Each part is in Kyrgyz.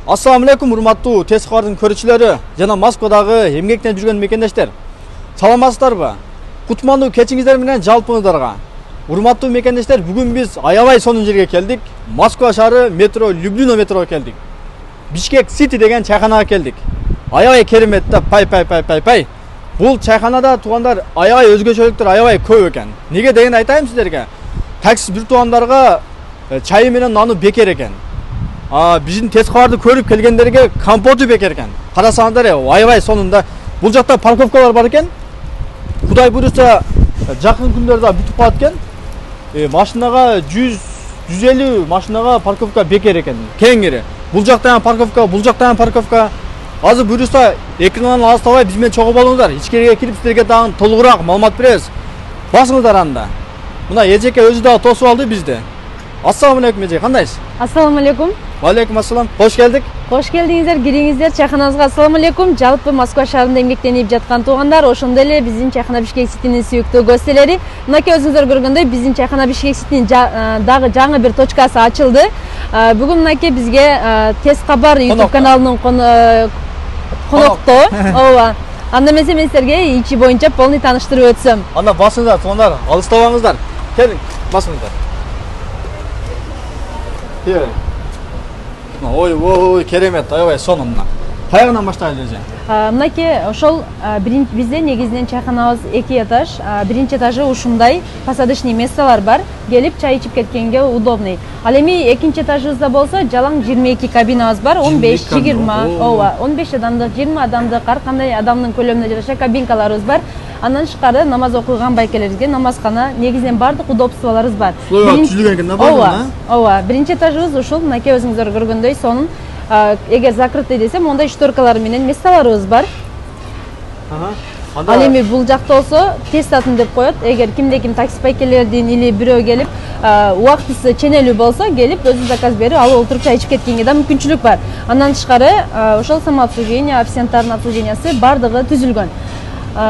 Assalamu alaikum урматтуу тез кабардын көрүүчүлөрү жана Москвадагы эмгектен жүргөн мекендештер. Саламатсыздарбы? Кутмандуу кечиңиздер менен жалпыңыздарга. Урматтуу мекендештер, бүгүн биз аябай сонун жерге келдик. Москва шаары метро Люблино метроға келдик. Бишкек Сити деген чайханага келдик. Аябай керемет да, пай. Бул чайханада туугандар аябай өзгөчөлүктөр аябай көп экен. Неге деген айтайм сиздерге. Такси бир туугандарга чайы менен наны бекер экен. Биздин тез кабарды көрүп келгендерге компоту бекер экен. Карасаңдар аябай сонунда. Бул жакта парковкалар бар экен. Кудай буйруса жакын күндөрдө бүтүп калат экен. Машинага 100-150 машинага парковка бекер экен. Кеңири. Бул жакта парковка, бул жакта парковка. Азыр буйруса экрандан алыстабай биз менен чогуу болуңуздар. Ичкериге кирип сиздерге дагы толугураак маалымат беребиз. Басыңыздар анда. Мына эжеке өзү дагы тосуп алды бизди. Ассаламу алейкум эже, кандайсыз? Ассаламу алейкум. Валейкум ассалам. Кош келдик. Кош келдиңиздер, кириңиздер чайханабызга. Ассаламу алейкум. Жалпы Москва шаарында эмгектенип жаткан туугандар, ошондой эле биздин чайхана Бишкек Ситинин сүйүктүү гостелери. Мынакей өзүңүздөр көргөндөй биздин чайхана Бишкек Ситинин дагы жаңы бир точкасы ачылды. Бүгүн мынакей бизге тез кабар YouTube каналынын коноктоо. Ооба. Анда мен сиздерге ичи боюнча полный тааныштырып өтсөм. Анда басыңыздар, туугандар, алыстабаңыздар. Келиң, басыңыздар. Ой, керемет, аябай сонун. Каягынан баштайлы эже? Мынакей ошол бизде негизинен чайханабыз 2 этаж. Биринчи этажы ушундай посадочный местолар бар. Келип чай ичип кеткенге удобный. Ал эми экинчи этажыбызда болсо жалаң 22 кабинабыз бар. 15-20, ооба, 15 адамдык, 20 адамдык, ар кандай адамдын көлөмүнө жараша кабинкаларыбыз бар. Андан тышкары намаз окуган байкелерибизге намазкана, негизинен бардык удобстволорубуз бар. Түзүлгөн экен да баардыгы? Ооба, биринчи этажыбыз ушул, мынакей өзүңүздөр көргөндөй сонун. Эгер закрытый десем, онда штуркалар менен месталарыбыз бар. Ал эми бул жакта болсо тест атын деп коет. Эгер кимде-ким такси байкелердин или бирөө келип, убактысы ченелүү болсо, келип өзү заказ берип, алып отуруп чай ичип кеткенге да мүмкүнчүлүк бар. Андан тышкары ошол самообслуживание, официанттардын обслуживаниясы бардыгы түзүлгөн.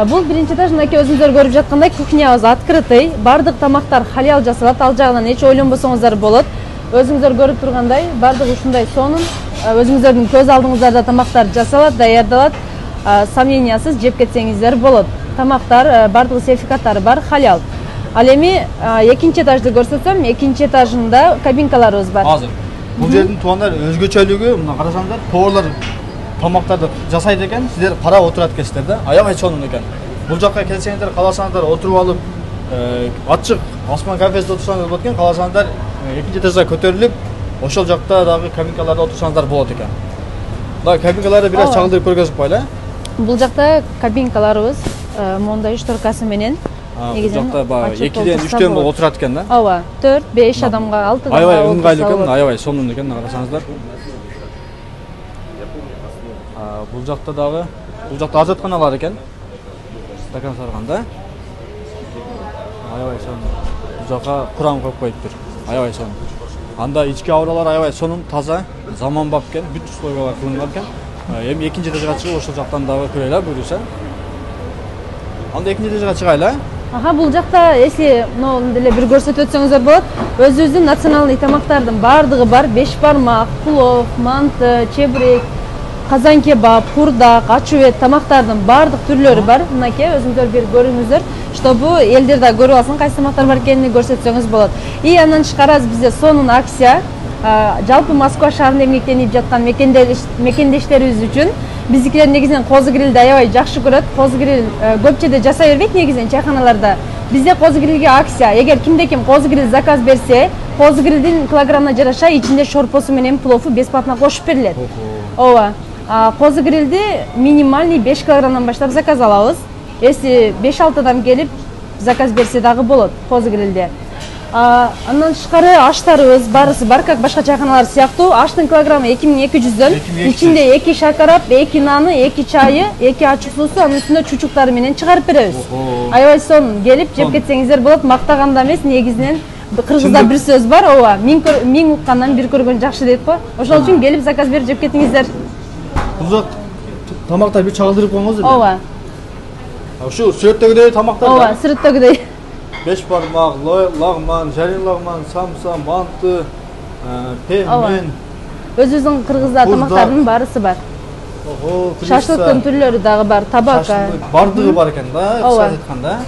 Бул биринчи этаж, мынакей өзүңүздөр көрүп жаткандай кухнябыз открытый, бардык тамактар халал жасалат, ал жагынан эч ойлонбосоңуздар болот. Өзүңүздөр көрүп тургандай, бардыгы ушундай сонун, өзүңүздөрдүн көз алдыңыздарда тамактар жасалат, даярдалат, сомнениясыз жеп кетсеңиздер болот. Тамактар бардыгы сертификаттары бар, халал. Ал эми экинчи этажды көрсөтсөм, экинчи этажында кабинкаларыбыз бар. Азыр бул жердин туугандар өзгөчөлүгү, мына карасаңдар, поварлар тамактарды жасайт экен, сиздер карап отурат экенсиздер да. Аябай сонун экен. Бул жакка келсеңиздер, кааласаңыздар отуруп алып, ачык асман кафесинде отурсаңыздар болот экен, кааласаңыздар экинчи этажга көтөрүлүп, ошол жакта дагы кабинкаларда отурсаңыздар болот экен. Мына кабинкаларды бир аз чагылдырып көргөзүп коелу. Бул жакта кабинкаларыбыз мондай шторкасы менен негизинен жакта 2-ден 3-төн болуп отурат экен да. Ооба, 4-5 адамга, 6 адамга. Аябай ыңгайлуу экен, аябай сонун экен, карасаңыздар. Бул жакта дагы, бул жакта ажатканалар экен. Стакан сарганда. Аябай сонун. Бул жакка Куран коюп коюптур. Аябай сонун. Анда ички абралар аябай сонун, таза, заманбап экен, бүт условиялар кылынган экен. Эми экинчи этажга чыгып ошол жактан дагы көрөлү, буйруса. Анда экинчи этажга чыгайлы. Бул жакта эсли мону деле бир көрсөтүп өтсөңүздөр болот. Өзүбүздүн националдык тамактардын бардыгы бар. 5 бармак, плов, манты, чебрек, казан кебаб, курдак, ачуэт тамактардын бардык түрлөрү бар. Мынакей өзүңүздөр бир көрүңүздөр, чтобы элдер да көрүп алсын кайсы тамактар бар экенин көрсөтсөңүз болот. И андан тышкары бизде сонун акция, жалпы Москва шаарында эмгектенип жаткан мекендештерибиз үчүн биздикилер негизинен козу грилди аябай жакшы көрөт. Козу гриль көпчөдө жасай бербейт негизинен чайханаларда. Бизде козу грилге акция. Эгер кимде-ким козу гриль заказ берсе, козу грилдин килограммына жараша ичинде шорпосу менен плову бесплатно кошуп берилет. Ооба. Козу грилди минимальный 5 килограммдан баштап заказ алабыз. Если 5-6 адам келип заказ берсе дагы болот козу грилде. Андан тышкары аштарыбыз барысы бар, как башка чайханалар сыяктуу. Аштын килограммы 2200дөн. Ичинде 2 шакарап, 2 наны, 2 чайы, 2 ачык суусу, анын үстүнө чучуктары менен чыгарып беребиз. Аябай сонун, келип жеп кетсеңиздер болот. Мактаганда эмес, негизинен кыргызда бир сөз бар, ооба, миң уккандан бир көргөн жакшы дейт го. Ошол үчүн келип заказ берип жеп кетиңиздер. Бул тамактар бир чагылдырып коюңуз. Ооба. Ушу сүрөттөгүдөй тамактар. Ооба, сүрөттөгүдөй. 5 бармак, лагман, жарин лагман, самса, манты, пеммен, өзүбүздүн кыргызда тамактардын баарысы бар. Ого, Шашлыктын түрлөрү дагы бар, табака. Бардыгы бар экен да, кыска айтканда.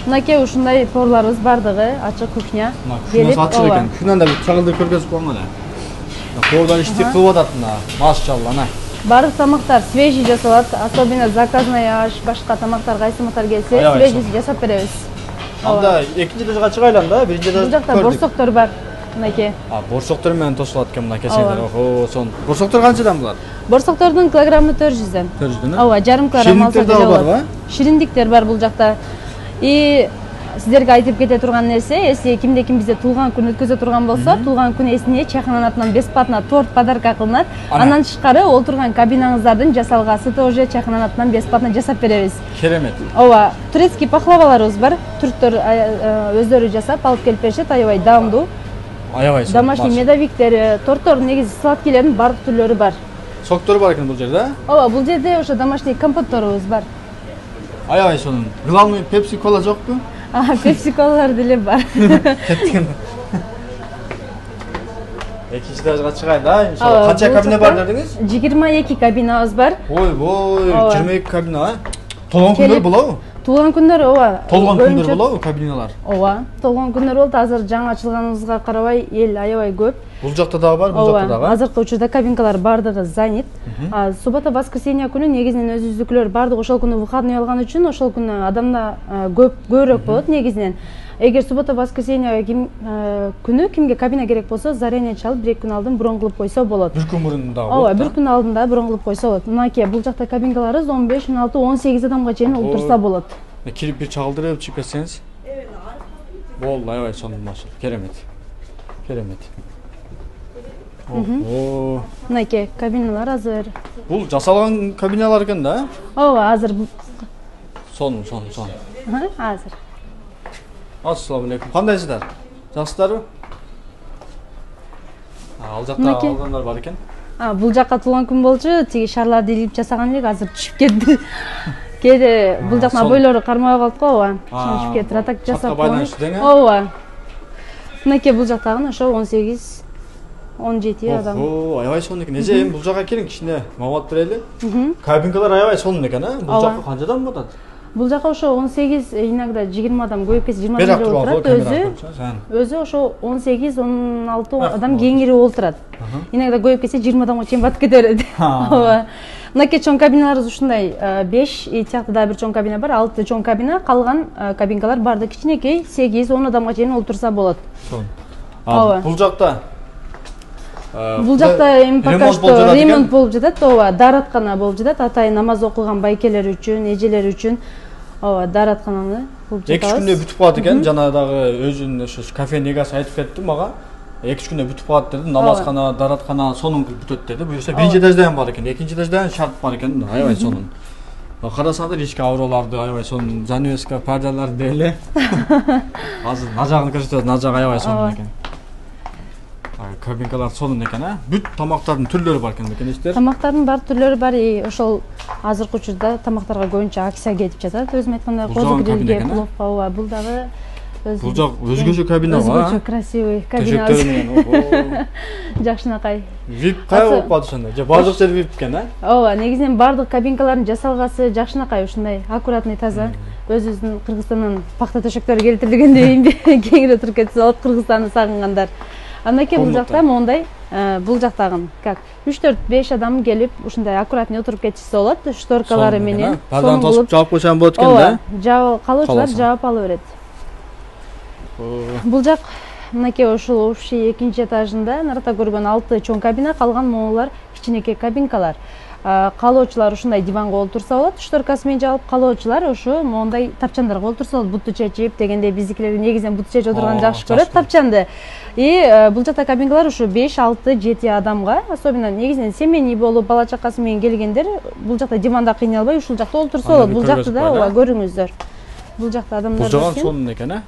Мынакей ушундай торлорубуз бардыгы, ачык кухня. Кухнясы ачык экен. Кухняда бир чагылдырып көргөзүп койгон эле. Колдон иштеп кылып атат мына, машалла ана. Бардык тамактар свежий жасалат, особенно заказной аш, башка тамактар кайсы тамактар келсе, свежий жасап беребиз. Анда экинчи этажга чыгайлы анда, биринчи этажда. Бул жакта борсоктор бар. Мынакей. Борсоктор менен тосулат экен мына кесеңдер. Ого, сон. Борсоктор канчадан булар? Борсоктордун килограммы 400дөн. 400дөн? Ооба, жарым килограмм алса деле болот. Шириндиктер бар бул жакта. И сиздерге айтып кете турган нерсе, если кимде-ким бизде туулган күн өткөзө турган болсо, туулган күн эсине чайхананын атынан бесплатно торт подарка кылынат. Андан тышкары олтурган кабинаңыздардын жасалгаасы тоже чайхананын атынан бесплатно жасап беребиз. Керемет. Ооба, турецкий пахлаваларыбыз бар. Түрктөр өздөрү жасап алып келип беришет, аябай даамдуу. Аябай. Домашний медовиктер, торттор, негизи сладкилердин бардык түрлөрү бар. Соктор бар экен бул жерде? Ооба, бул жерде ошо домашний компотторубуз бар. Аябай сонун. Главный Pepsi Cola жокпу? Pepsi Cola'lar деле бар. Кеттиген. Экинчи этажга чыгайлы да, иншалла. Канча кабина бар дедиңиз? 22 кабинабыз бар. Ой, 22 кабина, Толгон күндөр болобу? Туулган күндөр ооба. Толгон күндөр болобу кабиналар? Ооба, толгон күндөр болот. Азыр жаңы ачылганыбызга карабай эл аябай көп. Бул жакта дагы бар, бул жакта дагы. Азыркы учурда кабинкалар бардыгы занят. Суббота, воскресенье күнү негизинен өзүбүздүкүлөр бардык ошол күнү выходной алган үчүн ошол күнү адамда көбүрөөк болот негизинен. Эгер суббота, воскресенье күнү кимге кабина керек болсо, заранее чалып 1-2 күн алдын брон кылып койсо болот. Бир күн мурун дагы болот. Ооба, 1 күн алдында брон кылып койсо болот. Мынакей бул жакта кабинкаларыбыз 15, 16, 18 адамга чейин олтурса болот. Кирип бир чагылдырып чыгып кетсеңиз. Болду, аябай сонун машалла. Керемет. Керемет. Мынакей кабиналар азыр. Бул жасалган кабиналар экен да? Ооба, азыр. Сонун. Азыр. Ассаламу алейкум. Кандайсыздар? Жакшысыздарбы? Ал жакта алгандар бар экен. Бул жакка туулган күн болчу, тиги шарларды илип жасаган элек, азыр түшүп кетти. Кээде бул жактын бойлору кармай калат го, ооба. Түшүп кетти, атак жасап койгон. Ооба. Мынакей бул жактагы ошо 18 17 адам. Аябай сонун экен. Эже бул жакка келиң, кичине маалымат берели. Кабинкалар аябай сонун экен, Бул жакка канчадан батат? Бул жака ошо 18, иногда 20 адам, көбүп кетсе 20 адам отурат. Өзү ошо 18-16 адам кеңири отурат. Иногда көбүп кетсе 20 адамга чейин батып кете берет. Ооба. Мынакей чоң кабиналарыбыз ушундай 5, и тиякта дагы бир чоң кабина бар, 6 чоң кабина, калган кабинкалар барды кичинекей, 8-10 адамга чейин отурса болот. Ооба. Бул жакта эми пока что ремонт болуп жатат, ооба, даараткана болуп жатат. Атайын намаз окуган байкелер үчүн, эжелер үчүн, ооба, даараткананы кылып жатабыз. 2 күндө бүтүп калат экен. Жана дагы өзүнүн ошо кафе негасы айтып кетти мага. 2 күндө бүтүп калат деди. Намазкана, даараткана сонун кылып бүтөт деди. Буюрса биринчи этажда бар экен, экинчи этажда шарт бар экен. Аябай сонун. Карасаңдар ички авроларды аябай сонун, занавеска, пардаларды деле. Азыр нажагын көрсөтөт, нажак аябай сонун экен. Кабинкалар сонун экен, Бүт тамактардын түрлөрү бар экен мекенештер. Тамактардын бар түрлөрү бар, ошол азыркы учурда тамактарга көбүнчө акция кетип жатат. Өзүм айткандай козу грилге, пловка, ооба, бул дагы бул жак өзгөчө кабина бар. Өзгөчө красивый кабина. Жакшынакай. VIP кай болуп калды ошондо? Же бардык жер VIP экен, Ооба, негизинен бардык кабинкалардын жасалгасы жакшынакай, ушундай аккуратный, таза. Өзүбүздүн Кыргызстандан пахта төшөктөрү келтирилгендей кеңири отуруп кетсе болот, Кыргызстанды сагынгандар. Анакей бул жакта моундай, бул жактагын как 3-4-5 адам келип ушундай аккуратный отуруп кетишсе болот, шторкалары менен. Парданы тосуп жаап койсоң болот экен да? Ооба, калуучулар жаап ала берет. Бул жак мынакей ушул общий 2-нчи этажында нарата көргөн 6 чоң кабина, калган моулар кичинекей кабинкалар. Калоочулар ушундай диванга олтурса болот, шторкасы менен жаап, калоочулар ошо моундай тапчандарга олтурса болот, буту чечип дегендей, биздикилер негизинен буту чечип отурганды жакшы көрөт, тапчанды. И бул жакта кабинкалар ушу 5, 6, 7 адамга, особенно негизинен семейный болуп, бала чакасы менен келгендер бул жакта диванда кыйналбай ушул жакта олтурса болот. Бул жакты да ооба көрүңүздөр. Бул жакта адамдар бар. Бул жагы сонун экен,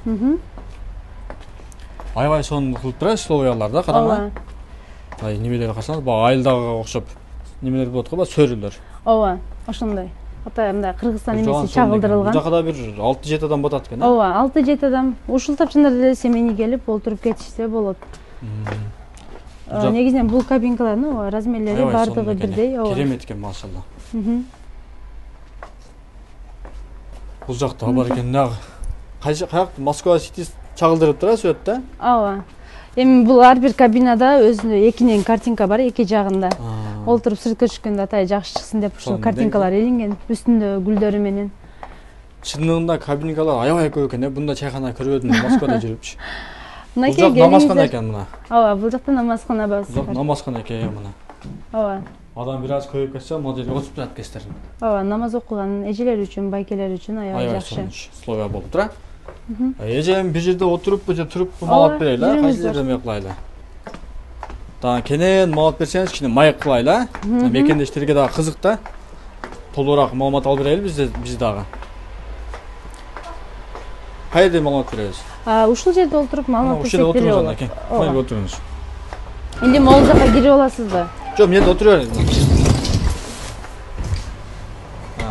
Аябай сонун кылып турат, словоялар да, карама. Немелер карасаңыз, бага айылдагыга окшоп немелер болот го, сөрүлөр. Ооба, ошондой. Ата мындай Кыргызстан эмеси чагылдырылган. Бул жакта бир 6-7 адам батат экен, Ооба, 6-7 адам. Ушул тапчандар деле семейный келип олтуруп кетишсе болот. негизинен бул кабинкалардын размерлери баардыгы бирдей. Керемет экен, машалла. Бул жакта бар экен, дагы. Каяк Москва City чагылдырып турат сүрөттө? Ооба. Эми бул ар бир кабинада өзүнүн экинен картинка бар, эки жагында. Олтуруп сыртка түшкөндө атай жакшы чыксын деп ушул картинкалар илинген, үстүндө гүлдөрү менен. Чындыгында кабинкалар аябай көп экен, бундай чайхана көрбөдүм Москвада жүрүпчү. Бул жак намазкана экен мына. Ооба, бул жакта намазкана бар. Жок, намазкана экен мына. Ооба. Адам бир аз көбөйүп кетсе, могу жерге отуруп турат кестерин. Ооба, намаз окуган эжелер үчүн, байкелер үчүн аябай жакшы. Условия болуп тура. Эжем бир жерде отуруппу же туруппу маалат берели, кайсы жерде эмне кылайлы. Дагы кенен маалат берсеңиз, кичине майк кылайлы. Мекендештерге дагы кызык да. Толугураак маалымат алып берели биз дагы. Кайда маалымат беребиз? Ушул жерде отуруп маалымат берсек болот. Майга отуруңуз. Или могул жакка кирип аласызбы? Жок, мен отура берем.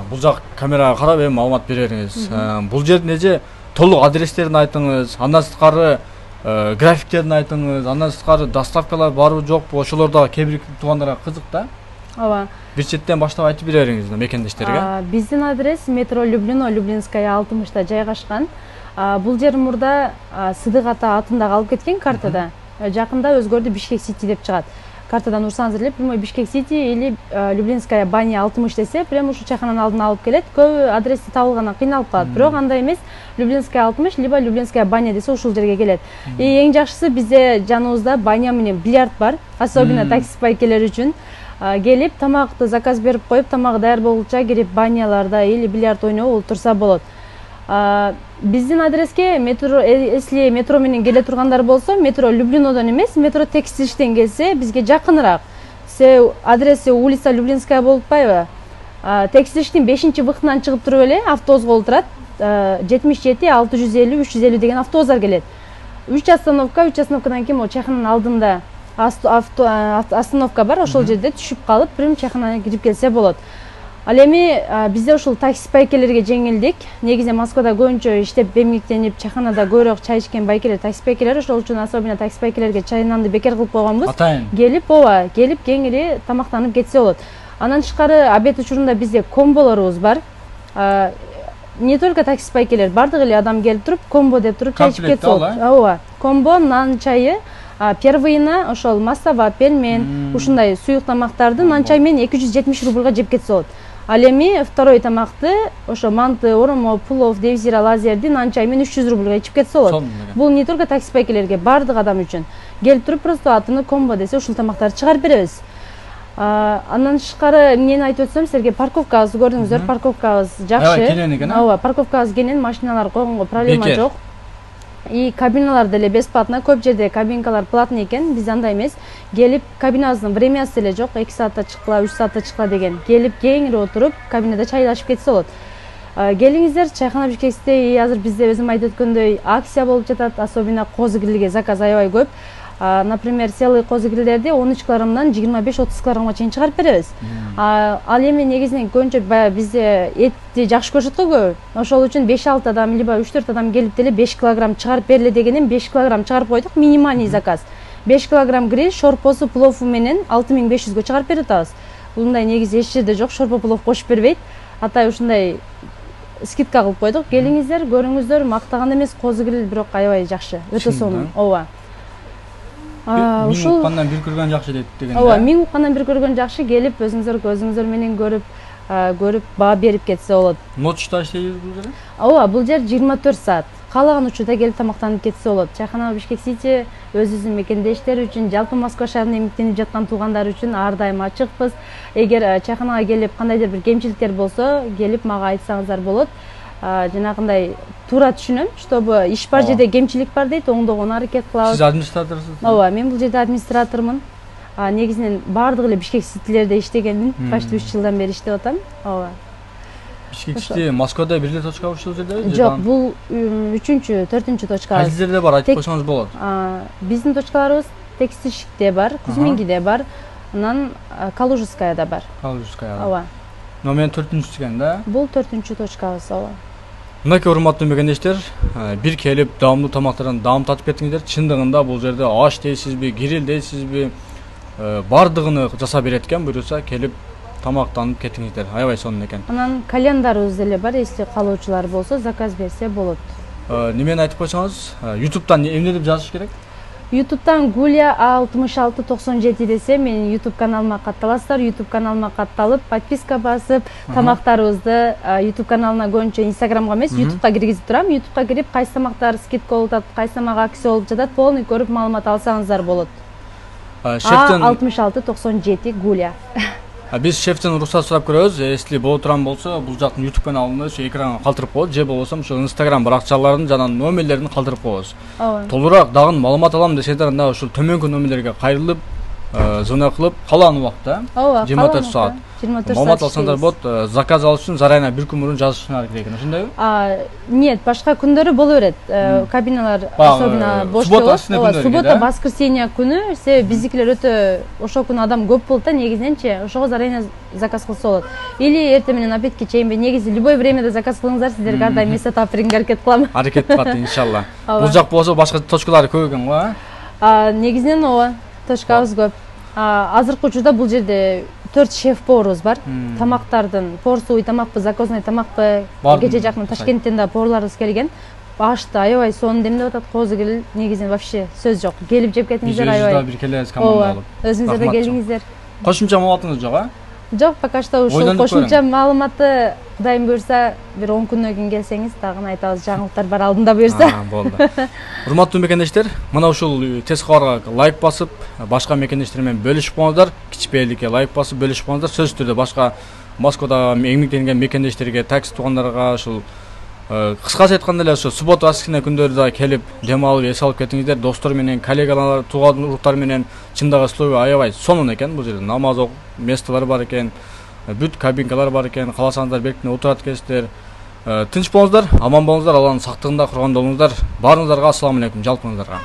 Бул жак камерага карап эми маалымат бере бериңиз. Бул жердин эже толук адрестерин айтыңыз, андан сырткары графиктерин айтыңыз, андан сырткары доставкалар барбы жокпу, ошолор дагы кээ бир туугандарга кызык да. Ооба. Бир четтен баштап айтып бере бериңиз мекендештерге. Биздин адрес метро Люблино, Люблинская 60-та жайгашкан. Бул жер мурда Сыдык ата атындагы алып кеткен картада. Жакында өзгөрдү, Бишкек Сити деп чыгат. Картадан урсаңыз эле прямой Бишкек Сити или Люблинская баня 60 десе, прямо ушул чайхананын алдына алып келет. Көп адрести табылгандан кыйналып калат. Бирок андай эмес, Люблинская 60 либо Люблинская баня десе ушул жерге келет. Эң жакшысы бизде жаныбызда баня менен бильярд бар, особенно такси байкелер үчүн. Келип тамакты заказ берип коюп, тамак даяр болгуча кирип баняларда или бильярд ойноп отурса болот. Биздин адреске метро, если метро менен келе тургандар болсо, метро Люблинодон эмес, метро Текстилиштен келсе, бизге жакыныраак. Адреси улица Люблинская болуп атпайбы? Текстилиштин 5-выхтынан чыгып туруп эле автобусга олтурат. 77 650 350 деген автобустар келет. 3 остановкадан кийин чайхананын алдында остановка бар, ошол жерде түшүп калып, прям чайханага кирип келсе болот. Ал эми бизде ушул такси байкелерге жеңилдик. Негизинен Москвада көбүнчө иштеп эмгектенип, чайханада көбүрөөк чай ичкен байкелер, такси байкелер, ошол үчүн особенно такси байкелерге чай нанды бекер кылып койгонбуз. Келип кеңири тамактанып кетсе болот. Андан тышкары обед учурунда бизде комболорубуз бар. Не только такси байкелер, бардык эле адам келип туруп, комбо деп туруп чай ичип кетсе болот. Ооба. Комбо, нан чайы, первыйына ошол мастава, пельмен, ушундай суюк тамактарды нан чай менен 270 рубльга жеп кетсе болот. Ал эми второй тамакты ошо манты, оромо, плов, девзира, лазерди нан чай менен 300 рубльга ичип кетсе болот. Бул не только такси байкелерге, бардык адам үчүн. Келип туруп просто атыны комбо десе ушул тамактарды чыгарып беребиз. Андан тышкары эмнени айтып өтсөм, силерге парковкабызды көрдүңүздөр, парковкабыз жакшы. Ооба, парковкабыз кенен, машиналар койгонго проблема жок. И кабиналар деле бесплатно, көп жерде кабинкалар платный экен, биз андай эмес. Келип кабинабыздын времясы деле жок, 2 саатта чыккыла, 3 саатта чыккыла деген. Келип кеңири отуруп, кабинада чайлашып кетсе болот. Келиңиздер, чайхана Бишкекте азыр бизде өзүм айтып өткөндөй акция болуп жатат, особенно козу грилге заказ аябай көп. Например, селый козу грилдерди 13 килограммдан 25-30 килограммга чейин чыгарып беребиз. Ал эми негизинен көбүнчө бизде этти жакшы көрүшөт го көбү. Ошол үчүн 5-6 адам либо 3-4 адам келип деле 5 килограмм чыгарып бериле дегеним 5 килограмм чыгарып койдук, минимальный заказ. 5 килограмм гриль, шорпосу, плову менен 6500 чыгарып берип атабыз. Мындай негизи эч жерде жок, шорпо плов кошуп бербейт. Атай ушундай скидка кылып койдук. Келиңиздер, көрүңүздөр, мактаган эмес, козу гриль бирок аябай жакшы, өтө сонун. Ооба. Миң уккандан бир көргөн жакшы дейт деген. Ооба, миң уккандан бир көргөн жакшы, келип өзүңүздөр көзүңүздөр менен көрүп баа берип кетсе болот. Ночта иштейбиз бул жерде? Ооба, бул жер 24 саат. Каалаган учурда келип тамактанып кетсе болот. Чайхана Бишкек Сити өзүбүздүн мекендештер үчүн, жалпы Москва шаарында эмгектенип жаткан туугандар үчүн ар дайым ачыкпыз. Эгер чайханага келип кандайдыр бир кемчиликтер болсо, келип мага айтсаңыздар болот. Жанагындай туура түшүнөм, чтобы иш бар жерде кемчилик бар дейт, оңдогонго аракет кылабыз. Сиз администраторсуз? Ооба, мен бул жерде администратормун. Негизинен бардык эле Бишкек Ситилерде иштегенмин. Почти 3 жылдан бери иштеп атам. Ооба. Бишкек Сити Москвада бир эле точка ушул жердеби? Жок, бул 3-4 точкабыз. Кайсы жерде бар, айтып койсоңуз болот. Биздин точкаларыбыз Текстильщикте бар, Кузьмингиде бар, анан Калужскаяда бар. Калужскаяда. Ооба. Номер 4-чү экен да? Бул 4-чү точкабыз, ооба. Мынакей урматтуу мекендештер, бир келип даамдуу тамактардан даам татып кеттиңиздер. Чындыгында бул жерде аш дейсизби, гриль дейсизби, бардыгыны жасап берет экен, буюрса келип тамактанып кетиңиздер. Аябай сонун экен. Анан календарыбыз деле бар, эсте калуучулар болсо заказ берсе болот. Немени айтып койсоңуз, YouTube'дан эмне деп жазыш керек? YouTube'дан Гулия 6697 десе, менин YouTube каналыма катталасыздар. YouTube каналыма катталып, подписка басып, тамактарыбызды YouTube каналына көбүнчө Instagramга эмес, YouTube'га киргизип турам. YouTube'га кирип, кайсы тамактар скидка болуп атат, кайсы тамак акция болуп жатат, полный көрүп маалымат алсаңыздар болот. 6697 Гулия. Биз шефтен уруксат сурап көрөбүз. Если боло турган болсо, бул жактын YouTube каналында ошо экранга калтырып коебуз, же болбосо ошо Instagram баракчаларын жана номерлерин калтырып коебуз. Толураак дагы маалымат алам десеңиздер, анда ушул төмөнкү номерлерге кайрылып, звонок кылып, калган убакта 24 саат маалымат алсаңдар болот. Заказ алыш үчүн зарайына 1 күн мурун жазышыңар керек экен, ошондойбу? Нет, башка күндөрү боло берет. Кабиналар особенно бош болот. Суббота, воскресенье күнү, себеби биздикилер өтө ошол күнү адам көп болот да, негизиненчи. Ошого зарайына заказ кылса болот. Или эртең менен обедке чейинби, негизи любой времяда заказ кылыңыздар, сиздерге ар дайым эс таап бергенге аракет кылам. Аракет кылат иншалла. Бул жак болсо башка точкалары көп экен го, Негизинен ооба, точкабыз көп. Азыркы учурда бул жерде 4 шеф-поварыбыз бар. Тамактардын порсовый тамакпы, закозный тамакпы, кече жакын Ташкенттен да поварларыбыз келген. Ашты аябай сонун демдеп атат, козу кел, негизинен вообще сөз жок. Келип жеп кетиңиздер аябай. Бир келебиз команда алып. Өзүңүздөр да келиңиздер. Кошумча маалыматыңыз жок, Жок, пока что ушул кошумча маалыматты Кудайым буюрса, бир 10 күндөн кийин келсеңиз, дагы айтабыз, жаңылыктар бар алдында буюрса. Болду. Урматтуу мекендештер, мына ушул тез кабарга лайк басып, башка мекендештер менен бөлүшүп коңуздар, кичпейликке лайк басып бөлүшүп коңуздар. Сөзсүз түрдө башка Москвада эмгектенген мекендештерге, такси туугандарга ушул кыскача айтканда эле ошо суббота, воскресенье күндөрү да келип, дем алып, эс алып кетиңиздер. Достор менен, коллегалар, тууган уруктар менен чындагы условия аябай сонун экен. Бул жерде намаз окуп, местолор бар экен, бүт кабинкалар бар экен. Кааласаңыздар беркине отурат экенсиздер. Тынч болуңуздар, аман болуңуздар, Алланын сактыгында курган болуңуздар. Баарыңыздарга ассаламу алейкум, жалпыңыздарга.